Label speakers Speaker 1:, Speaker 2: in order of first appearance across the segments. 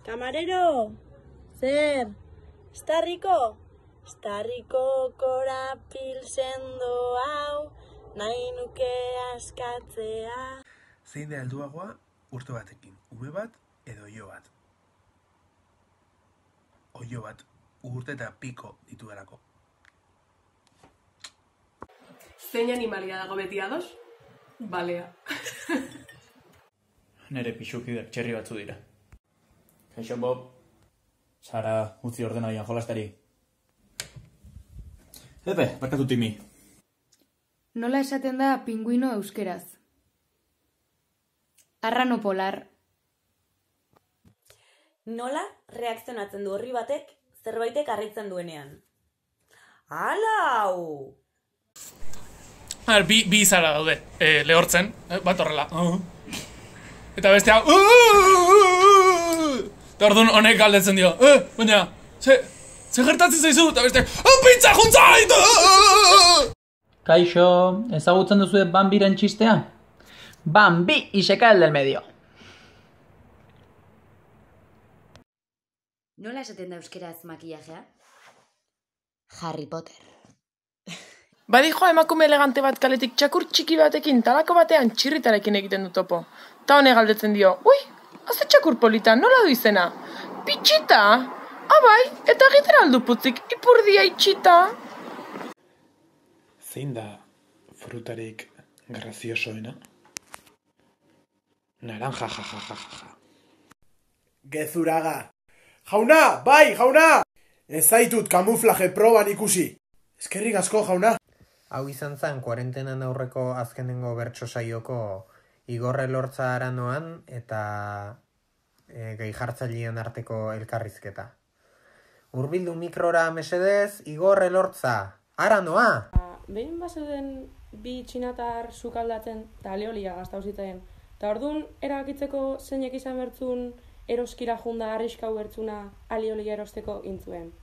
Speaker 1: Camarero, zer, estarriko? Estarriko korapil sendo hau, nahi nuke askatzea.
Speaker 2: Zein da helduagoa urte batekin, ume bat edo oilo bat? Oilo bat, urte eta piko dituelako.
Speaker 3: Zein animalia dago beti ados? Balea.
Speaker 4: Nere pixukideak txerri batzu dira. Kaixo, Bob. Sara, utzi ordenaian jolastari. Epe, barkatu Timi.
Speaker 5: Nola esaten da pinguino euskeraz? Arrano polar.
Speaker 6: Nola reakzionatzen du horri batek zerbaitek harritzen duenean? Alau!
Speaker 7: Bi izara daude, lehortzen, bat horrela. Eta bestea... Eta orduan honek galdetzen dio, baina, ze gertatzen zaizu, eta besteak, pizza juntzait!
Speaker 8: Kaixo, ezagutzen duzu Bambiren txistea? Bambi y se cae el del medio.
Speaker 9: Nola esaten da euskeraz makillajea? Harry Potter.
Speaker 3: Badijoa emakume elegante bat kaletik txakur txiki batekin talako batean txirritarekin egiten du topo. Ta honek galdetzen dio, ui, haze txakur polita, nola du izena? Pitxita? Abai, eta egiten aldu putzik, ipurdia itxita.
Speaker 2: Zein da frutarik graziosoena? Naranja, jajajaja.
Speaker 10: Gezuraga. Jauna, bai, jauna! Ez zaitut kamuflaje proban ikusi. Eskerrik asko, jauna.
Speaker 11: Hau izan zen, kuarentenan aurreko azkenengo bertso saioko Igor Elortza Aranoan eta gehi jartzailean arteko elkarrizketa. Hurbildu mikrora mesedez, Igor Elortza, Aranoa!
Speaker 3: Behin bazeuden bi txinatar sukaldatzen eta aliolia gaztau zitaien. Eta orduan erabakitzeko zeinek izan bertzun eroskira junda arriskau bertzuna aliolia erosteko intzuen.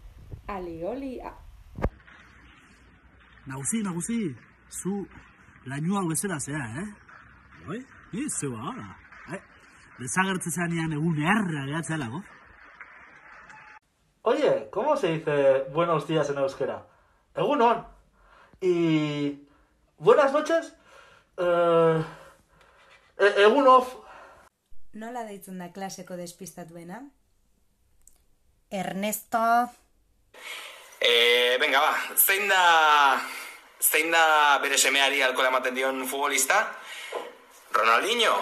Speaker 3: Aliolia...
Speaker 12: Nagusi, zu lainua bezala zea, Oi? Zeu ahora. Desagertze zanean egun erra gehatzea lago.
Speaker 13: Oye, ¿cómo se dice buenos días en euskera? Egunon. Y... buenas noches? Egunof.
Speaker 14: Nola deitzen da klaseko despistatuena? Ernesto...
Speaker 15: Venga, ba, zein da bere semeari alkola ematen dion futbolista? Ronaldinho.